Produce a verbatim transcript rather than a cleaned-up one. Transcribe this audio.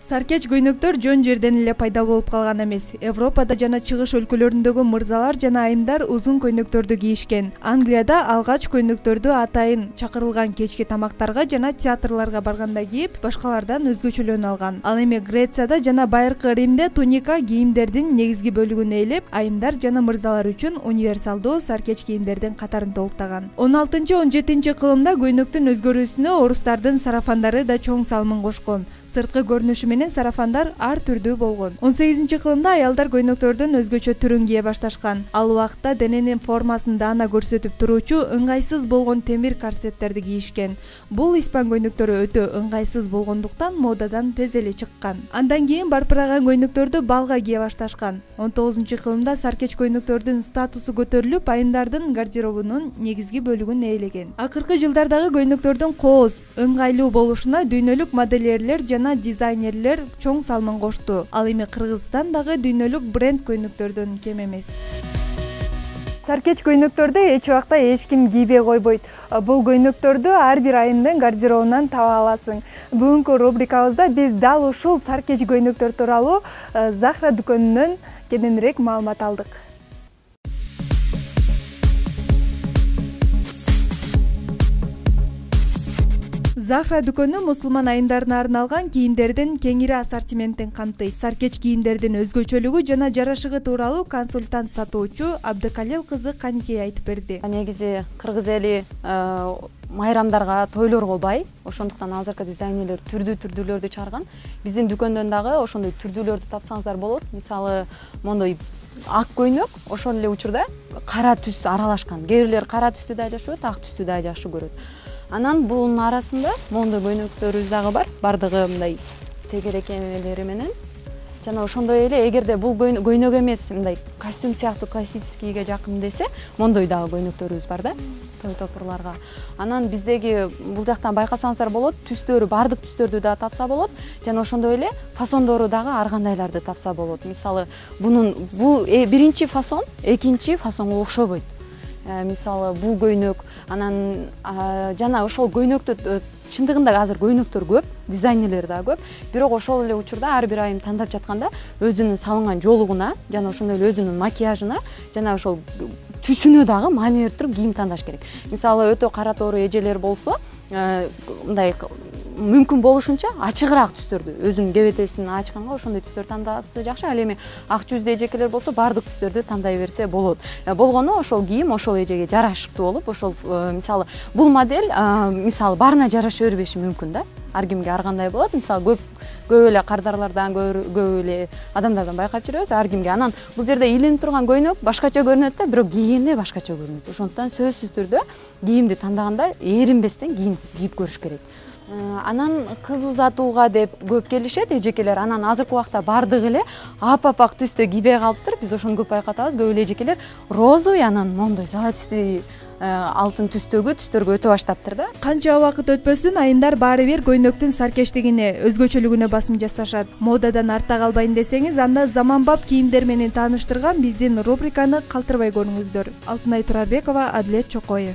Саркеч көйнөктөр жөн жерден эле пайда болуп калган эмес. Европада жана чыгыш өлкөлөрүндөгү мырзалар жана айымдар узун көйнөктөрдү кийишкен. Англияда алгач көйнөктөрдү атайын чакырылган кечки тамактарга жана театрларга барганда кийип, башкалардан өзгөчөлөнө алган. Ал эми Грецияда жана Байыркы Римде туника кийимдердин негизги бөлүгүн ээлеп, айымдар жана мырзалар үчүн универсалдуу саркеч кийимдердин катарын толуктаган. он алтынчы он жетинчи кылымда көйнөктүн өзгөрүүсүнө орустардын сарафандары да чоң салымын кошкон. Сырткы көрүнүшү менен сарафандар ар түрдүү болгон. он сегизинчи кылымда аялдар көйнөктөрдүн өзгөчө түрүн кие башташкан. Ал убакта дененин формасын даана көрсөтүп туруучу ыңгайсыз болгон темир корсеттерди кийишкен. Бул испан көйнөктөрү өтө ыңгайсыз болгондуктан модадан тез эле чыккан. Андан кийин барпыраган көйнөктөрдү балга кие башташкан. он тогузунчу кылымда саркеч көйнөктөрдүн статусу көтөрүлүп, айымдардын гардеробунун негизги бөлүгүн ээлеген. Акыркы жылдардагы көйнөктөрдүн кооз, ыңгайлуу болушуна дүйнөлүк модельерлер жана дизайнерлер чоң салымын кошту. Ал эми Кыргызстан дагы дүйнөлүк бренд көйнөктөрдөн кем эмес. Саркеч көйнөктөрдү эч убакта эч ким кийбей койбойт. Бул көйнөктөрдү ар бир айымдын гардеробунан таба аласың. Бүгүнкү рубрикабызда биз дал ушул саркеч көйнөктөр тууралуу Захра дүкөнүнөн кененирээк маалымат алдык. Захра дүкөнү мусулман айымдарына арналган кийимдердин кеңири ассортиментин камтыйт. Саркеч кийимдердин өзгөчөлүгү жана жарашыгы тууралуу консультант сатуучу Абдыкалил кызы Каникей айтып берди. Негизи кыргыз эли майрамдарга, тойлорго бай. Ошондуктан азыркы дизайнерлер түрдүү-түрдүүлөрдү чыгарган. Биздин дүкөндөн дагы ошондой түрдүүлөрдү тапсаңыздар болот. Мисалы, мондой ак көйнөк, ошол эле учурда кара түс аралашкан. Кээ бирлер кара түстү да жашырат, ак түстү да жакшы көрөт. Анан бунун арасында мондой көйнөктөрүбүз дагы бар. Бардыгы мындай тегерекемелери менен. Жана ошондой эле эгерде бул көйнөк эмес, мындай костюм сыяктуу классическийге жакын десе, мондой дагы көйнөктөрүбүз бар да, той топурларга. Анан биздеги бул жактан байкасаңыздар болот, түстөрү, бардык түстөрдү да тапса болот. Жана ошондой эле фасондору дагы ар кандайларды тапса болот. Мисалы, бунун бул биринчи фасон экинчи фасонго окшобойт. Мисалы, бул көйнөк, анан жана ошол көйнөктү чындыгында азыр көйнөктөр көп, дизайнерлер да көп. Бирок ошол эле учурда ар бир айым тандап жатканда өзүнүн салынган жолугуна, жана ошондой эле өзүнүн макияжына, жана ошол түсүнө дагы маани берип туруп кийим тандаш керек. Мисалы, өтө кара тоору эжелер болсо, мындай мүмкүн болушунча ачыгыраак түстөрдү, өзүнүн кебетесин ачканга ошондой түстөр тандасы жакшы. Ал эми ак жүздүү эжекелер болсо, бардык түстөрдү тандай берсе болот. Болгону ошол кийим ошол эжеге жарашыктуу болуп, ошол мисалы бул модель мисалы баарына жараша бербеши мүмкүн да. Ар кимге ар кандай болот. Мисалы көп көп эле кардарлардан, көп эле адамдардан байкап жүрөбүз, ар кимге. Анан бул жерде илинип турган көйнөк башкача көрүнөт да, бирок кийгенде башкача көрүнөт. Ошондуктан сөзсүз түрдө кийимди тандаганда эринбестен кийип көрүш керек. Анан кыз узатууга деп көп келишет эжекелер. Анан азыркы убакта бардыгы эле ап-апак түстө кийбей калыптыр. Биз ошону көп байкатабыз. Көп эле эжекелер розовый, анан мондой золотистый алтын түстөгү түстөргө өтө баштаптыр да. Канча убакыт өтпөсүн айымдар баары бир көйнөктүн саркечтигине, өзгөчөлүгүнө басым жасашат. Модадан артта калбайын десеңиз, анда заманбап кийимдер менен тааныштырган биздин рубриканы калтырбай көрүңүздөр. Алтынай Турарбекова, Адилет Чокоев.